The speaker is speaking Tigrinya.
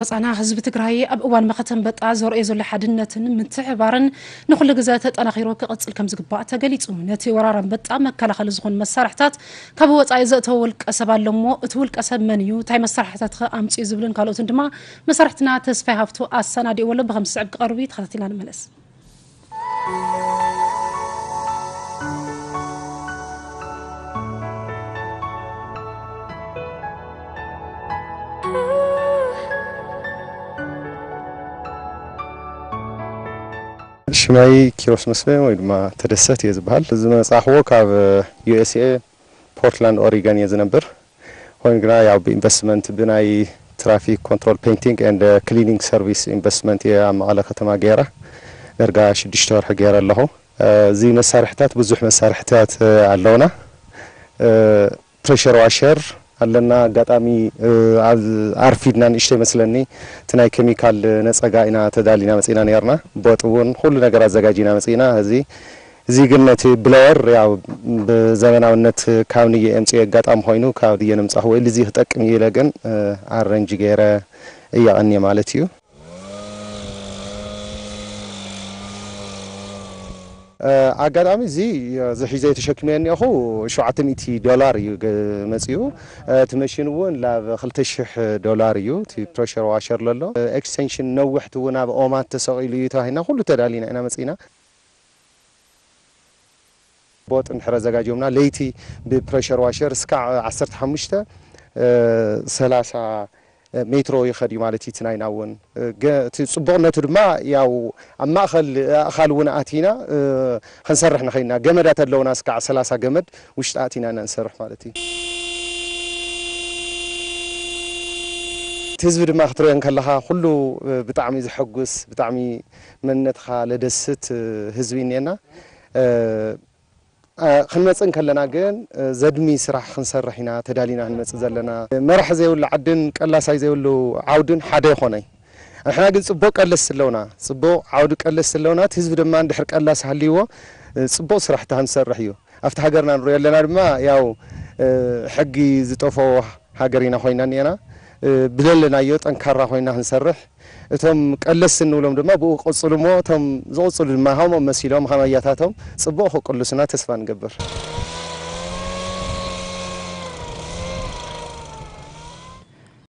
ወፃና ህዝቢ ትግራይ ኣብ እዋን መኸተ ኣንበጣ ዘርእዮ ዘሎ ሓድነትን ምትሕባርን ንኹሉ ግዘ ተጠናኺሩ ክቕፅል ከም ዝግባእ ተገሊፁ። ነቲ ወራር ኣንበጣ መከላኸሊ ዝኾኑ መሳርሕታት ካብ ወፃኢ ዘእተወ ውልቀ ሰብ ኣሎ እሞ እቲ ውልቀ ሰብ መን እዩ፣ እንታይ መሳርሕታት ከ ኣምፅኡ ዝብልን ካልኦትን ድማ መሳርሕትና ተስፋይ ሃፍቱ ኣሰናዲእዎ ኣሎ። ብኸም ዝስዕብ ክቐርብ እዩ፣ ተኸታቲልና ንመለስ። ሽመይ ኪሮስ መስፍን ወይ ድማ ተደሰት እየ ዝበሃል። ዝመጻእኽዎ ካብ ዩ ኤስ ኤ ፖርትላንድ ኦሪገን እየ ዝነብር። ኮይኑ ግና ያው ብኢንቨስትመንት ብናይ ትራፊክ ኮንትሮል ፔይንቲንግ ኤንድ ክሊኒንግ ሰርቪስ ኢንቨስትመንት እየ ኣብ መቐለ ከተማ ገይረ። ደርጋ ሽዱሽተ ወርሒ ገይረ ኣለኹ። እዚ መሳርሕታት ብዙሕ መሳርሕታት ኣለውና። ፕሬሸር ዋሸር ኣለና። ኣጋጣሚ ኣብ ኣርፊድና ንእሽተይ መስለኒ እቲ ናይ ኬሚካል ነፀጋ ኢና ተዳሊና መፂና ነርና። ቦጥ እውን ኩሉ ነገር ኣዘጋጂና መፂና። እዚ እዚ ግን ነቲ ብለወር ያው ብዘመናውነት ካብ ንየ የምፅኦ ኣጋጣሚ ኮይኑ ካብ ድየ ንምፃኹ ወይ እዚ ክጠቅም እዩ ኢለ ግን ኣረንጅ ገይረ እያቐንየ ማለት እዩ። ኣጋጣሚ እዚ እዚ ሒዘ ተሸክመ እኒኦኹ ሸውዓተ ሚእቲ ዶላር እዩ ገ- መፂኡ። እቲ መሽን እውን ላብ ክልተ ሽሕ ዶላር እዩ። እቲ ፕሬሸር ዋሸር ለሎ ኤክስቴንሽን ነዊሕቲ እውን ኣብ ኦማት ተሰቒሉ እዩ ተባሂልና ኩሉ ተዳሊና ኢና መፂና። ቦጥ እንድሕር ኣዘጋጅዮምና ለይቲ ብፕሬሸር ዋሸር እስካዕ ዓሰርተ ሓሙሽተ ሰላሳ ሜትሮ ይኸድ እዩ ማለት እዩ። እቲ ናይና እውን ገ- እቲ ፅቡቕነቱ ድማ ያው ኣብ ማእኸል ኣእኻል እውን ኣቲና ክንሰርሕ ንኸይና ገመዳት ኣለውና እስካዕ ሰላሳ ገመድ ውሽጢ ኣቲና ኢና ንሰርሕ ማለት እዩ። እቲ ህዝቢ ድማ ክትሪኦ እንከለኻ ኩሉ ብጣዕሚ ዘሐጉስ ብጣዕሚ መንነትኻ ለደስት ህዝቢ እኒኤና። ክንመፅእ እንከለና ግን ዘድሚ ስራሕ ክንሰርሕ ኢና ተዳሊና ክንመፅእ ዘለና። መራሕ ዘይብሉ ዓድን ቀላሳይ ዘይብሉ ዓውድን ሓደ ይኾነይ። ንሕና ግን ፅቡቅ ቀለስ ኣለውና፣ ፅቡቅ ዓውዲ ቀለስ ኣለውና። እቲ ህዝቢ ድማ እንድሕር ቀላስ ሃልይዎ ፅቡቅ ስራሕቲ ክንሰርሕ እዩ። ኣብቲ ሃገርና ንሪኦ ኣለና ድማ ያው ሕጊ ዝጠፈኦ ሃገር ኢና ኮይና እኒአና። ብለለናዮ ጠንካራ ኮይና ክንሰርሕ እቶም ቀለስ እንብሎም ድማ ብኡ ክቕፅሉ እሞ እቶም ዝቕፅሉ ድማ ከምኦም መሲሎም ከም ኣያታቶም ፅቡቕ ክቅልሱና ተስፋ ንገብር።